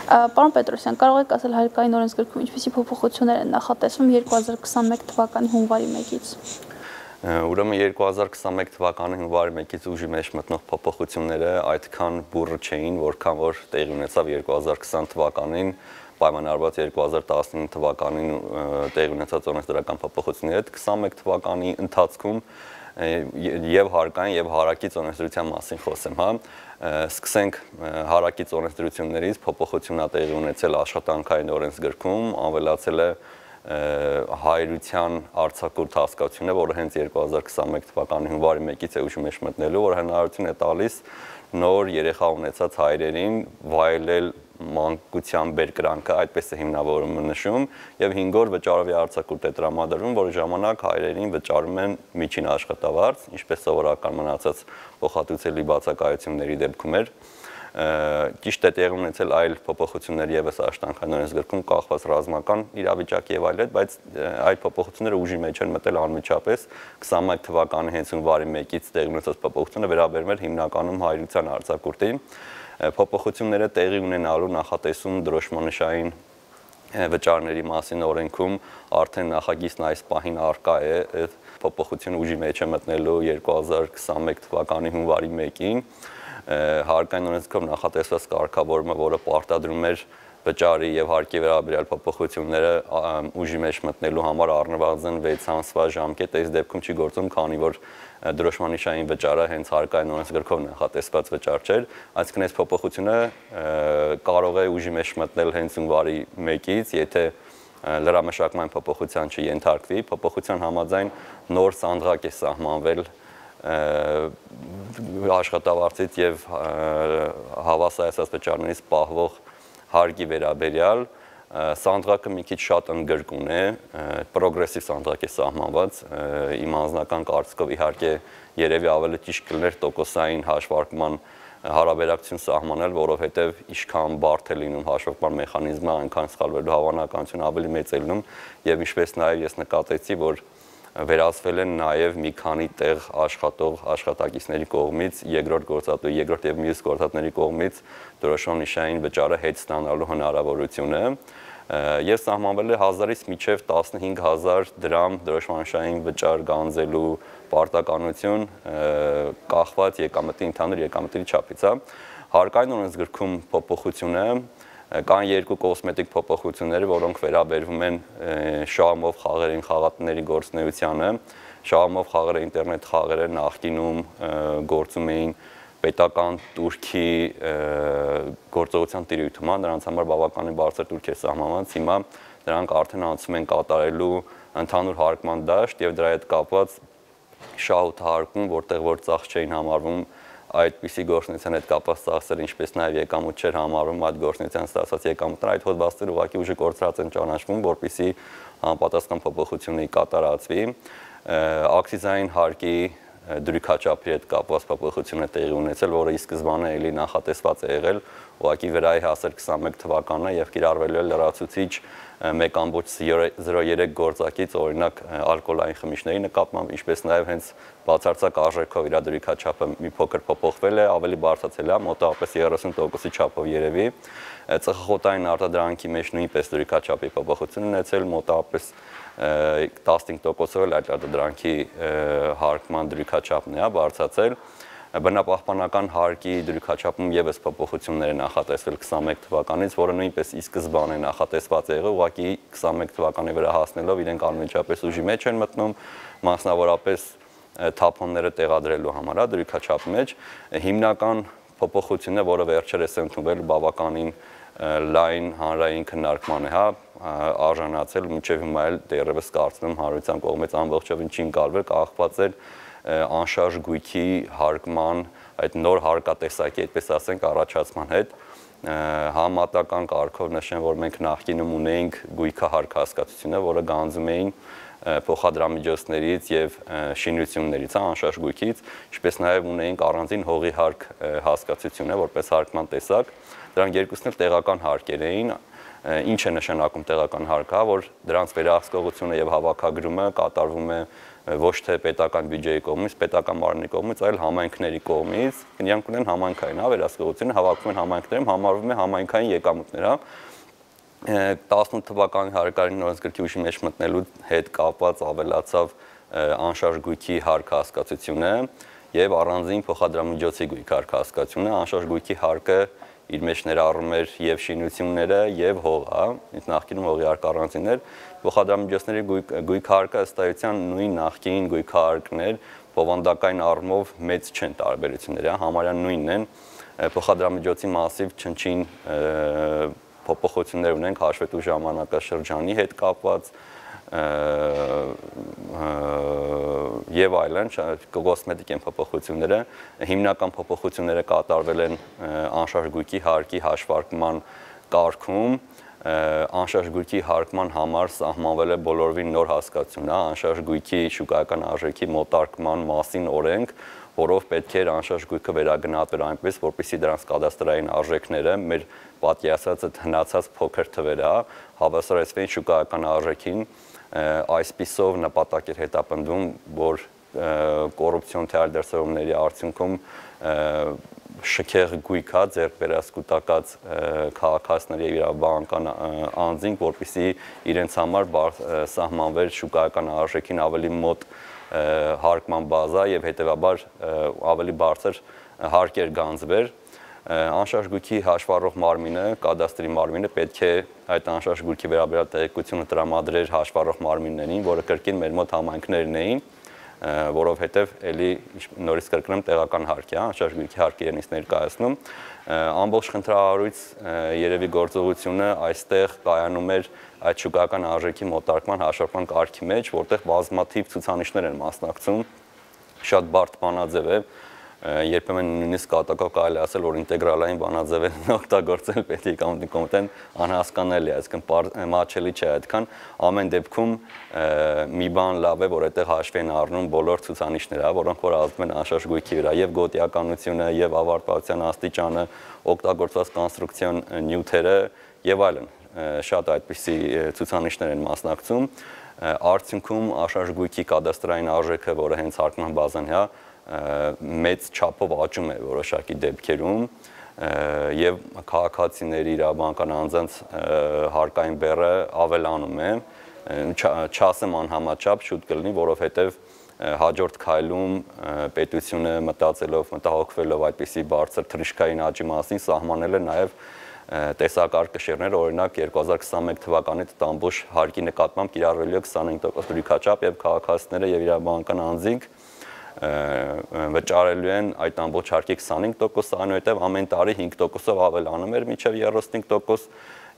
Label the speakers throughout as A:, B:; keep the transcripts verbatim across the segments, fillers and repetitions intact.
A: Պարոն Պետրոսյան, կարող եք ասել հայկական օրենսգրքում ինչպիսի փոփոխություններ են նախատեսվում երկու հազար քսաներկու թվականի հունվարի մեկից։
B: Ուրեմն երկու հազար քսաներկու թվականի հունվարի մեկից ուժի մեջ մտնող փոփոխությունները այդքան բուռը չէին, որքան որ տեղի ունեցավ երկու հազար քսան թվականին պայմանավորված երկու հազար տասնինը թվականին տեղի ունեցած օրենսդրական փոփոխությունների հետ քսաներկու թվականի ընթացքում եւ հարկային եւ հարակից օրենսդրության մասին խոսեմ, հա, սկսենք հարակից օրենսդրություններից փոփոխությունն ա տեղի ունեցել աշխատանքային օրենսգրքում, ավելացել է հայրության արձակուրդ հասկացությունը, որը հենց երկու հազար քսաներկու թվականի հունվարի մեկից է ուժի մեջ մտնելու, որ հնարավորություն է տալիս նոր երեխա ունեցած հայրերին վայելել մանկության բերկրանքը, այդպես է հիմնավորումը նշում, եւ հինգ օր վճարովի արձակուրդ է տրամադրվում, որի ժամանակ հայրերին վճարում են միջին աշխատավարձ, ինչպես սովորական մնացած փոխհատուցելի բացակայությունների դեպքում էր։ Ճիշտ է տեղի ունեցել այլ փոփոխություններ եւս աշխատանքային օրենսգրքում կախված ռազմական իրավիճակի եւ այլն, բայց այդ փոփոխությունները ուժի մեջ են մտել անմիջապես քսաներկու թվականի հենց հունվարի մեկից տեղի ունեցած փոփոխությունը վերաբերում էր հիմնականում հայրության արձակուրդին։ Փոփոխությունները տեղի ունենալու նախատեսում դրոշմանշային վճարների մասին օրենքում արդեն նախագիծն այս պահին առկա է, փոփոխությունը ուժի մեջ է մտնելու երկու հազար քսաներկու թվականի հունվարի մեկին։ Հարկային օրենսգրքում նախատեսված կարգավորումը, որը պարտադրում էր վճարի եւ հարկի վերաբերյալ փոփոխությունները ուժի մեջ մտնելու համար առնվազն վեց ամսվա ժամկետ, այս դեպքում չի գործում, քանի որ դրոշմանիշային վճարը հենց հարկային օրենսգրքով նախատեսված վճար չէր, այսինքն այս փոփոխությունը կարող է ուժի մեջ մտնել հենց հունվարի մեկից, եթե լրամշակման փոփոխության չենթարկվի, փոփոխության համաձայն նոր սանդղակ է սահմանվել աշխատավարձից եւ հավասարացած վճարներից պահվող հարկի վերաբերյալ սանդղակը մի քիչ շատ ընդգրկուն է, պրոգրեսիվ սանդղակ է սահմանված, իմ անձնական կարծիքով իհարկե երևի ավելի ճիշտ կլիներ տոկոսային հաշվարկման հարաբերակցություն սահմանել, որովհետեւ ինչքան բարդ է լինում հաշվարկման մեխանիզմը, այնքան սխալվելու հավանականությունը ավելի մեծ է լինում եւ ինչպես նաեւ ես նկատեցի, որ վերացվել են նաև մի քանի տեղ աշխատող աշխատակիցների կողմից երկրորդ գործատու, երկրորդ եւ մյուս գործատների կողմից դրոշմանիշային վճարը հետ ստանալու հնարավորությունը եւ սահմանվել է հազարից մինչեւ տասնհինգ հազար դրամ դրոշմանիշային վճար գանձելու պարտականություն կախված եկամտի ընդհանուր եկամտի չափից, հա։ Հարկային օրենսգրքում փոփոխությունը կան երկու կոսմետիկ փոփոխություններ, որոնք վերաբերվում են շահումով խաղերին խաղատների գործունեությանը։ Շահումով խաղերը ինտերնետ խաղերը նախկինում գործում էին պետական турքի գործողության տիրույթում, նրանց համար բավականին բարձր турք է սահմանված, հիմա դրանք արդեն անցում են կատարելու ընդհանուր հարկման դաշտ եւ դրա հետ կապված շահութահարկում, որտեղ որ ծախս չէին համարվում այդպիսի գործունեության հետ կապված ծախսեր, ինչպես նաև եկամուտ չէր համարվում այդ գործունեության ստացած եկամուտները, այդ հոդվածները ուղղակի ուժի կորցրած են ճանաչվում, որպեսզի համապատասխան փոփոխությունների կատարածվի։ Ակցիզային հարկի դրույքաչափի հետ կապված փոփոխություն է տեղի ունեցել, որը ի սկզբանե էլի նախատեսված է եղել ուղղակի վերայի հասել քսաներկու թվականը եւ կիրառվելու է լրացուցիչ մեկ ամբողջ զրո երեք գործակից, օրինակ ալկոհոլային խմիչքների նկատմամբ, ինչպես նաև հենց բացարձակ արժեքով իր դրույքաչափը մի փոքր փոփոխվել է, ավելի բարձրացել է, մոտավորապես երեսուն տոկոսի չափով երևի։ Ծխախոտային արտադրանքի մեջ նույնպես դրույքաչափի փոփոխություն ունեցել, մոտավորապես տասնհինգ տոկոսով էլ այդ արտադրանքի հարկման դրույքաչափն է բարձրացել։ Բնապահպանական հարկի դրույքաչափում եւս փոփոխություններ են նախատեսվել քսաներկու թվականից, որը նույնպես ի սկզբանե նախատեսված է եղել, ուղղակի քսաներկու թվականի վրա հասնելով իրենք անմիջապես ուժի մեջ են մտնում, մասնավորապես թափոնները տեղադրելու համար, դրույքաչափի մեջ։ Հիմնական փոփոխությունը, որը վերջերս է ընդունվել բավականին լայն հանրային քննարկման է, հա, արժանացել, մինչև հիմա էլ դեռևս կարծում եմ հանրության կողմից ամբողջովին չի ընկալվել, կախված էր անշարժ գույքի հարկման, այդ նոր հարկատեսակի, այդպես ասենք, առաջացման հետ։ Համատական կարգով նշեմ, որ մենք նախկինում ունեինք գույքը հարկ հասկացությունը, որը գանձում էին փոխադրամիջոցներից եւ շինություններից, անշարժ գույքից, ինչպես նաեւ ունեինք առանձին հողի հարկ հասկացությունը, որպես հարկման տեսակ։ Դրանք երկուսն էլ տեղական հարկեր էին, ինչ է նշանակում տեղական հարկը, որ դրանց վերահսկողությունը եւ հավաքագրումը կատարվում է ոչ թե պետական բյուջեի կողմից, պետական մարմնի կողմից, այլ համայնքների կողմից, նրանք ունեն համայնքային վերահսկողություն, հավաքում են համայնքներում, համարվում է համայնքային եկամուտներ, հա։ տասնութ թվականի հարկային օրենսգրքի ուժի մեջ մտնելու հետ կապված ավելացավ անշարժ գույքի հարկ հասկացությունը եւ առանձին փոխադրամիջոցի գույք հարկ հասկացությունը, անշարժ գույքի հարկը իր մեջ ներառում էր եւ շինությունները եւ հողը, նախկինում հողի հարկ առանձին էր, փոխադրամիջոցների գույք հարկը ըստ էության նույն նախկին գույք հարկներ, բովանդակային առումով մեծ չեն տարբերությունները, համարյա նույնն են, փոխադրամիջոցի մասիվ չնչին փոփոխություններ ունենք հաշվետու ժամանակաշրջանի հետ կապված եւ այլն, կոսմետիկ են փոփոխությունները, հիմնական փոփոխությունները կատարվել են անշարժ գույքի հարկի հաշվարկման կարգում, անշարժ գույքի հարկման համար սահմանվել է բոլորովին նոր հասկացություն, անշարժ գույքի շուկայական արժեքի մոտարկման մասին օրենք, որով պետք էր անշարժ գույքը վերագնահատվել այնպես, որպեսզի դրանց կադաստրային արժեքները մեր պատկերացած հնացած փոքր թվերը հավասարեցվեն շուկայական արժեքին, այսպիսով նպատակ էր հետապնդվում, որ կոռուպցիոն թերադարձությունների արդյունքում շքեղ գույքա ձեռք բերած կուտակած քաղաքացիների եւ իրավաբանական անձինք, որպեսզի իրենց համար սահմանվեր շուկայական արժեքին ավելի մոտ հարկման բազա եւ հետեւաբար ավելի բարձր հարկեր գանձվեր։ Անշարժ գույքի հաշվառող մարմինը, կադաստրի մարմինը պետք է այդ անշարժ գույքի վերաբերյալ տեղեկությունը տրամադրեր հաշվառող մարմիններին, որը կրկին մեր մոտ համայնքներն էին, որովհետև էլի նորից կրկնեմ տեղական հարկ է, անշարժ գույքի հարկը իրենից ներկայացնում, ամբողջ խնդրահարույց երևի գործողությունը այստեղ կայանում էր այդ շուկայական արժեքի մոտարկման հաշվարկման կարգի մեջ, որտեղ բազմաթիվ ցուցանիշներ են մասնակցում, շատ բարդ բանաձև է, երբեմն նույնիսկ կատակով կարելի ասել, որ ինտեգրալային բանաձևերն օգտագործել պետք է կոմիտեն անհասկանալի է, այսինքն մատչելի չէ այդքան, ամեն դեպքում մի բան լավ է, որ այդտեղ հաշվի են առնում բոլոր ցուցանիշները, որոնք որ ազդում են անշարժ գույքի վրա, եւ գոտիականությունը, եւ ավարտվածության աստիճանը, օգտագործված կոնստրուկցիոն նյութերը եւ այլն, շատ այդպիսի ցուցանիշներ են մասնակցում, արդյունքում անշարժ գույքի կադաստրային արժեքը, որը հենց հարկման բազան է, մեծ չափով աճում է որոշակի դեպքերում եւ քաղաքացիների իրավաբանական անձանց հարկային բեռը ավելանում է, չասեմ անհամաչափ շուտ կլինի, որովհետեւ հաջորդ քայլում պետությունը մտածելով, մտահոգվելով այդպիսի բարձր թռիչքային աճի մասին սահմանել է նաեւ տեսակարգաշերներ, օրինակ երկու հազար քսաներկու թվականի տամբուշ հարկի նկատմամբ կիրառվելու է քսանհինգ տոկոս դրույքաչափ եւ քաղաքացիները եւ իրավաբանական անձինք վճարելու են այդ ամբողջ հարկի քսանհինգ տոկոս, այնուհետև ամեն տարի հինգ տոկոսով ավելանում էր մինչև երեսունհինգ տոկոս,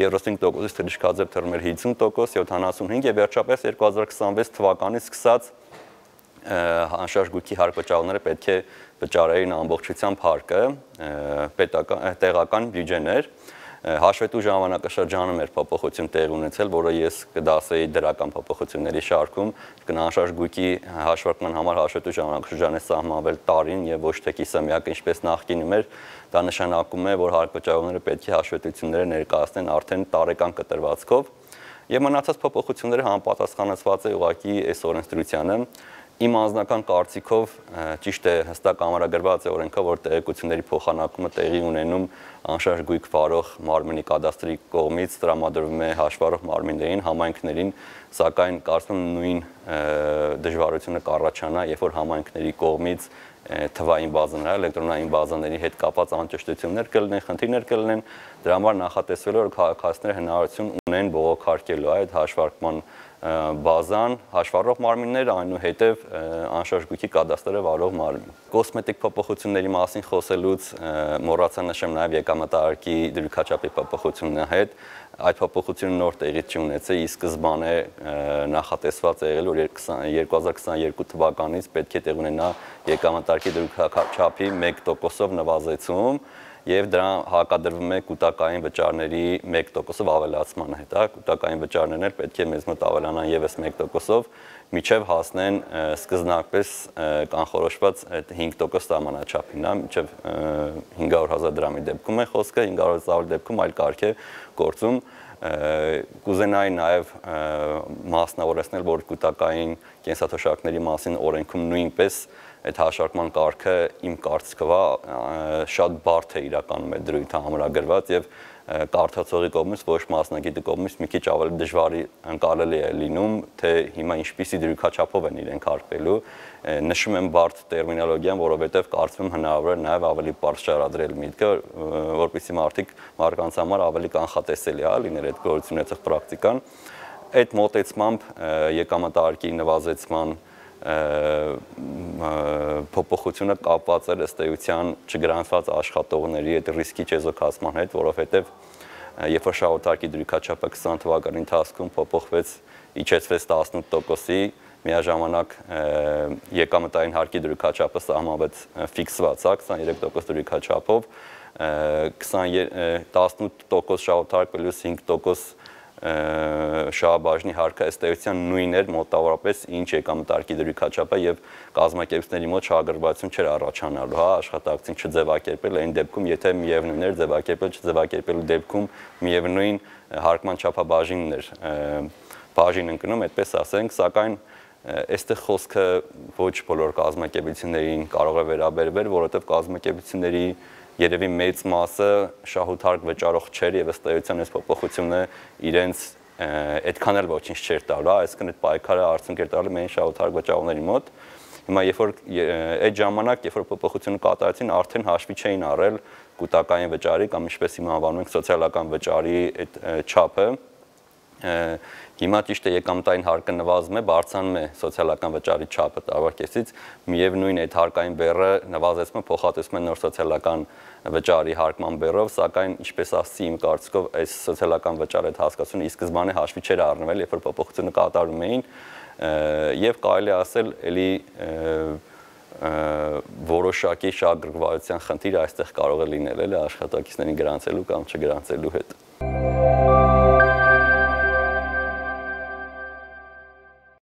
B: երեսունհինգ տոկոսից թռիչքաձև թռում էր հինգ տոկոս, յոթանասունհինգ եւ վերջապես երկու հազար քսանվեց թվականից սկսած անշարժ գույքի հարկ վճարողները պետք է վճարեին ամբողջությամբ հարկը, պետական տեղական բյուջեներ, հաշվետու ժամանակաշրջանում էր փոփոխություն տեղի ունեցել, որը ես կդասեի դրական փոփոխությունների շարքում, անշարժ գույքի հաշվարկման համար հաշվետու ժամանակաշրջանը սահմանվել տարին եւ ոչ թե կիսամյակ, ինչպես նախկինում էր, դա նշանակում է, որ հարկ վճարողները պետք է հաշվետվությունները ներկայացնեն արդեն տարեկան կտրվածքով եւ մնացած փոփոխությունները համապատասխանեցված է ուղղակի այս օրենսդրությանը։ Իմ անձնական կարծիքով ճիշտ է հստակ ամրագրված է օրենքով, որ տեղեկությունների փոխանակումը տեղի ունենում անշարժ գույք վարող մարմնի կադաստրի կողմից տրամադրվում է հաշվառող մարմիններին, համայնքներին, սակայն կարծում եմ նույն դժվարությունը կառաջանա, երբ որ համայնքների կողմից թվային բազաներ, էլեկտրոնային բազաների հետ կապված անճշտություններ կլինեն, խնդիրներ կլինեն, դրա համար նախատեսվել է, որ քաղաքացիները հնարավորություն ունեն բողոքարկելու այդ հաշվարկման բազան, հաշվառող մարմինները, այնուհետև անշարժ գույքի կադաստրը վարող մարմին։ Կոսմետիկ փոփոխությունների մասին խոսելուց մոռացա նշեմ նաև եկամտահարկի դրույքաչափի փոփոխությունն հետ, այդ փոփոխությունը նոր տեղի չունեցել, ի սկզբանե նախատեսված է եղել, որ երկու հազար քսաներկու թվականից պետք է տեղ ունենա եկամտահարկի դրույքաչափի մեկ տոկոսով նվազեցում եւ դրա հակադրվում է կൂട്ടակային վճարների մեկ տոկոսով ավելացմանը հետ, հա, կൂട്ടակային վճարներն էլ պետք է մեզ մոտ ավելանան եւս մեկ տոկոսով, միջև հասնեն սկզբնապես կանխորոշված այդ հինգ տոկոս սահմանաչափին, հա, միջև հինգ հարյուր հազար դրամի դեպքում է խոսքը, հինգ հարյուր հազար դեպքում այլ կարգ է գործում, Կուզենայի նաև մասնավորեցնել, որ կൂտակային կենսաթոշակների մասին օրենքում նույնպես այդ հաշվարկման կարգը իմ կարծիքով շատ բարդ է իրականում այդ դրույթը ամրագրված եւ կարդացողի կողմից ոչ մասնագետի կողմից մի քիչ ավելի դժվար ընկալելի է լինում, թե հիմա ինչպիսի դրույքաչափով են իրենք հարբելու։ Նշում եմ բարդ տերմինոլոգիան, որովհետև կարծում եմ հնարավոր է նաև ավելի բարձր շարադրել միտքը, որպեսզի մարդիկ մարդկանց համար ավելի կանխատեսելի է լինել այդ գործունեության ունեցող պրակտիկան։ Այդ մոտեցմամբ եկամտահարկի նվազեցման փոփոխությունը կապված էր ըստ էության չգրանցված աշխատողների այդ ռիսկի չեզոքացման հետ, որովհետև երբ որ շահութարկի դրույքաչափը քսան թվականի ընթացքում փոփոխվեց, իջեցվեց տասնութ տոկոսի, միաժամանակ եկամտային հարկի դրույքաչափը սահմանվեց ֆիքսված, քսաներեք տոկոս դրույքաչափով, տասնութ տոկոս շահութարկ պլյուս հինգ տոկոս շահաբաժնի հարկը ըստ էության նույնն էր մոտավորապես ինչ եկամտահարկի դրույքաչափը եւ կազմակերպությունների մոտ շահագրգռվածություն չէր առաջանալու, հա, աշխատակցին չձևակերպել այն դեպքում, եթե միևնույն էր ձևակերպել, չձևակերպելու դեպքում միևնույն հարկման չափաբաժինն էր բաժին ընկնում, այդպես ասենք, սակայն այստեղ խոսքը ոչ բոլոր կազմակերպություններին կարող է վերաբերվել, որովհետեւ կազմակերպությունների երևի մեծ մասը շահութարկ վճարող չէր եւ ըստ էության այս փոփոխությունը իրենց այդքան էլ ոչինչ չէր տալու, այսինքն այդ պայքարը արդյունք էր տալու միայն շահութարկ վճարողների մոտ։ Հիմա երբ որ այդ ժամանակ, երբ որ փոփոխությունը կատարեցին, արդեն հաշվի չէին առել կൂട്ടակային վճարի կամ ինչպես հիմա անվանում ենք սոցիալական վճարի այդ չափը։ Հիմա ճիշտ է եկամտային հարկը նվազում է, բարձրանում է սոցիալական վճարի չափը տարվա կեսից, միևնույն այդ հարկային բեռը նվազեցումը փոխհատուցում է նոր սոցիալական վճարի հարկման բեռով, սակայն ինչպես ասացի, իմ կարծիքով այս սոցիալական վճարի այդ հասկացությունը ի սկզբանե հաշվի չէր առնվել, երբ որ փոփոխությունը կատարում էին, եւ կարելի ասել, էլի որոշակի շահագրգռվածության խնդիր այստեղ կարող է լինել, էլի աշխատակիցներին գրանցելու կամ չգրանցելու հետ։